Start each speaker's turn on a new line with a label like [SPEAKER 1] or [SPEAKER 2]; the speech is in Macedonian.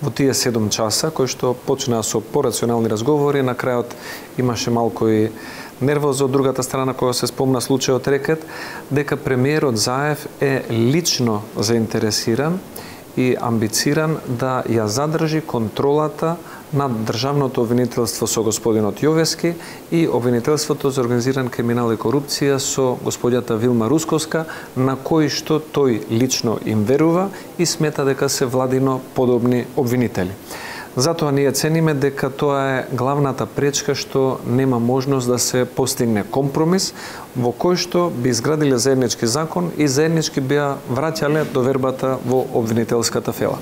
[SPEAKER 1] во тие 7 часа, кои што почнаа со порационални разговори, на крајот имаше малку и нервоза од другата страна, која се спомна случајот Рекет, дека премиерот Заев е лично заинтересиран и амбициран да ја задржи контролата над државното обвинителство со господинот Јовески и обвинителството за организиран криминал и корупција со господјата Вилма Русковска, на кои што тој лично им верува и смета дека се владино подобни обвинители. Затоа ние цениме дека тоа е главната пречка што нема можност да се постигне компромис во кој што би изградиле заеднички закон и заеднички би ја враќале довербата во обвинителската фела.